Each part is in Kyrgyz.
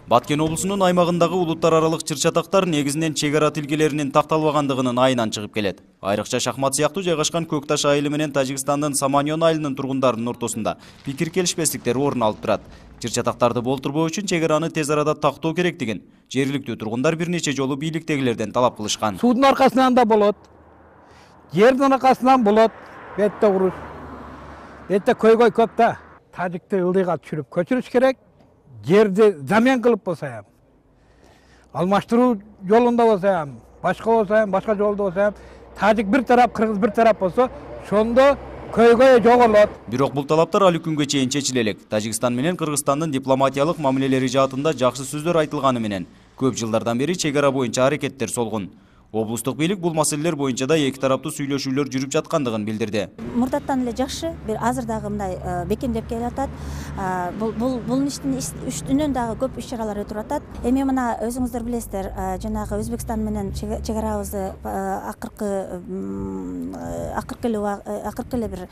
Баткен облусунун аймагындагы улуттар аралык чыр-чатактар негизинен чек ара тилкелеринин такталбагандыгынын айынан чыгып келет. Айрыкча Шахмат сыяктуу жайгашкан Көк Таш айылы менен Тажикстандын Саманьон айылынын тургундарынын ортосунда пикир келишпестиктер орун алып турат. Чыр-чатактарды болтурбоо үчүн чек араны тез арада тактоо керектигин жергиликтүү тургундар бир нече жолу бийликтегилерден талап кылышкан. Суудун аркасынан да болот, жердин аркасынан болот, бетте уруш. Бетте көйгөй көп да. Тажикти ылдыйга түшүрүп көчүрүш керек. Жерди замен кылып болсо ham, алмаштыруу жолунда болсо ham, башка жолдо болсо ham, тажик бир тарап, кыргыз бир тарап болсо, ошондо көйгөй жоголот. Бирок бул талаптар али күнгө чейин чечиле элек. Тажикстан менен Кыргызстандын дипломатиялык мамилелери жаатында жакшы сөздөр айтылганы менен көп жылдардан бери чек ара боюнча аракеттер солгун. Облустук бийлик бул маселелер боюнча да эки тараптуу сүйлөшүүлөр жүрүп жаткандыгын билдирди. Мурдаттан эле жакшы, бир азыр дагы мындай бекемдеп келатат. Бул иштин үстүнөн дагы көп иш-чаралар өтүп атат. Эми мына өзүңүздөр билесиздер, жанагы Өзбекстан менен чек арабызды акыркы эле бир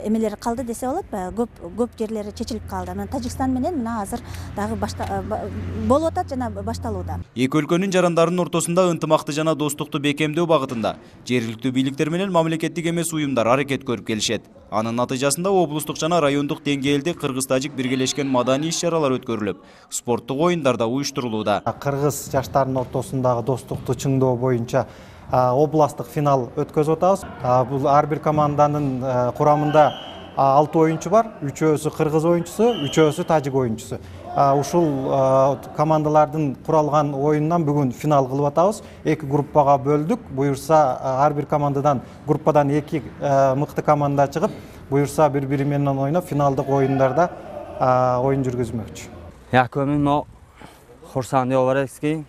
эмелер калды десе болот. Көп жерлери чечилип калды. Мына Тажикстан менен мына азыр дагы болуп атат жана башталууда. Эки өлкөнүн жарандарынын ортосунда ынтымакты жана достукту бекемдөө багытында жергиликтүү бийликтер менен мамлекеттик эмес уюмдар аракет көрүп келишет. Анын натыйжасында облустук жана райондук деңгээлде кыргыз-тажик биргелешкен маданий иш-чаралар өткөрүлүп, спорттук оюндар да уюштурулууда. Кыргыз жаштарынын ортосундагы достукту чыңдоо боюнча областтык финал өткөзүп атабыз. Бул ар бир команданын курамында 6 оюнчу бар, 3-өсү кыргыз оюнчусу, 3-өсү тажик оюнчусу. Ушул командалардын куралган оюнунан бүгүн финал кылып атабыз. 2 группага бөлдүк. Буюрса ар бир командадан группадан 2 мыкты команда чыгып, буюрса бири-бири менен ойноп финалдык оюндарда оюн жүргүзмөкчү. Якомино Хорсан Диоваревский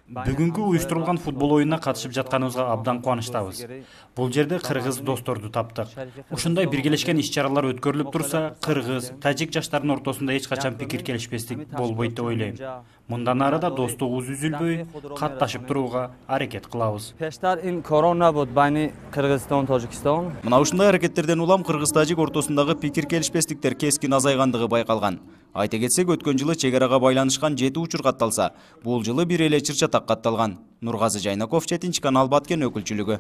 Бүгүнкү уюштурулган футбол оюнуна катышып жатканыбызга абдан кубанычтабыз. Бул жерде кыргыз досторду таптык. Ушундай биргелешкен иш-чаралар өткөрүлүп турса, кыргыз, тажик жаштарынын ортосунда эч качан пикир келишпестик болбойт деп ойлойм. Мындан ары да достугубуз үзүлбөй, катташып турууга аракет кылабыз. Мына ушундай аракеттерден улам кыргыз-тажик ортосундагы пикир келишпестиктер кескин азайгандыгы байкалган. Айта кетсек, өткөн жылы чек арага байланышкан 7 учур катталса, бул жылы бир эле чыр-чатак катталган. Нургазы Жайнаков, 7 канал, Баткен өкүлчүлүгү.